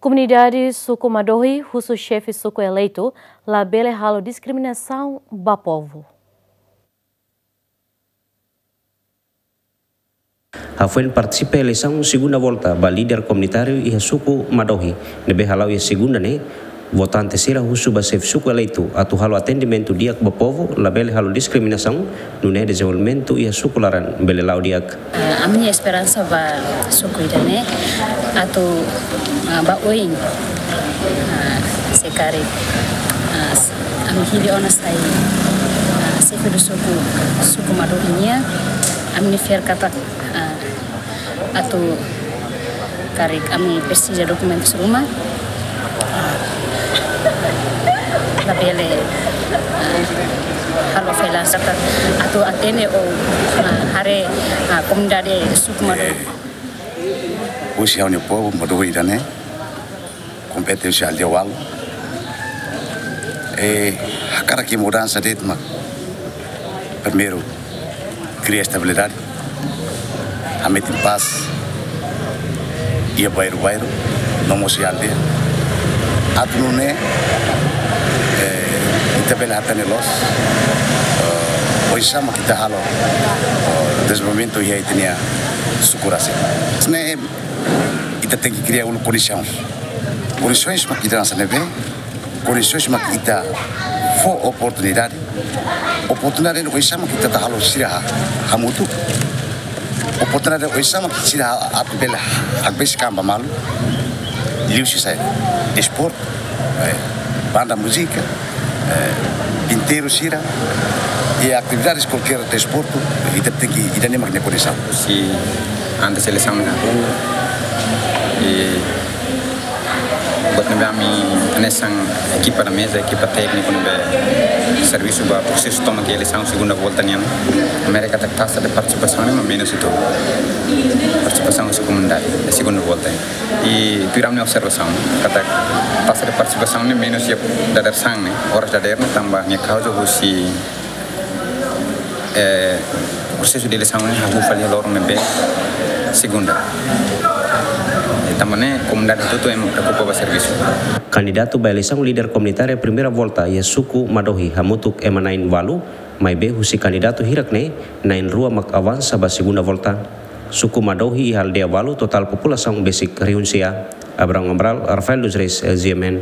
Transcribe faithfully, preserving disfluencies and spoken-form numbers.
Komunidade suku Madohi husu xefe suku eleitu labele halo diskriminasaun ba povu. Hafoin partisipa eleisaun segunda volta ba líder komunitáriu iha suku Madohi, ne'ebé hala'o iha segunda ne'e, votante sira husu ba xefe suku eleitu atu halo atendimentu di'ak ba povu, labele halo diskriminasaun, nune'e dezenvolvimentu iha suku laran bele la'o di'ak. Eh, ami-nia esperansa ba suku ida-ne'e atu, ah, ba oin, ah, se karik, ah, s-, ami hili ona sai, ah, xefe do suku, suku Madohi nian, ami-nia fiar katak, ah, atu karik ami presiza dokumentus ruma, ah, labele, ah, halo fila sata atu atende ou, ah, haree, ah, komunidade suku Madohi. Husi ha'u-nia povu Madohi ida-ne'e, kompeténsia aldeia ualu. Eh, hakarak iha mudansa de'it mak primeiru kria estabilidade, hametin pás iha bairru-bairru, no mós iha aldeia. Atu nune'e, eh, ita bele hatene loos, eh, oinsá mak ita halo, eh, dezenvolvimentu iha ita-nia suku rasik. Ne'e ita tenke kria uluk kondisaun. Kondisaun mak ita hanesan ne'ebé, kondisaun mak ita fó oportunidade. Oportunidade ne'e oinsá mak ita atu halo sira ha-, hamutuk. Oportunidade oinsá mak sira ha-, atu bele hakbesik an ba malu. Liuhusi saida? Desportu, eh, banda múzika, eh, pinteiru sira, i atividades kualkér desportu, ita tenke, ita-nia mak ne'e kondisaun. Se antes eleisaun ne'e hahú, i buat ne'ebé ami hanesan ekipa da meza, ekipa tékniku ne'ebé servisu ba prosesu tomak eleisaun segunda volta nian, ami haree katak taxa de partisipasaun ne'e mak menus uitoan. Partisipasaun husi komunidade, iha segunda volta. I tuir ami-nia observasaun, katak taxa de partisipasaun ne'e menus iha dadeer-saan ne'e, oras dadeer ne'e tanba nia kauza husi, eh, prosesu de eleisaun ne'e hahú fali loron ne'ebé segunda. I tanba ne'e komunidade hotu-hotu ema preokupa ba servisu. Kandidatu ba eleisaun líder komunitária primeira volta iha suku Madohi hamutuk ema na'in ualu, maibé husi kandidatu hirak ne'e, na'in rua mak avansa ba segunda volta. Suku Madohi iha aldeia ualu, totál populasaun besik rihun sia. Abrão Amaral, Rafael dos Reis, L G M N.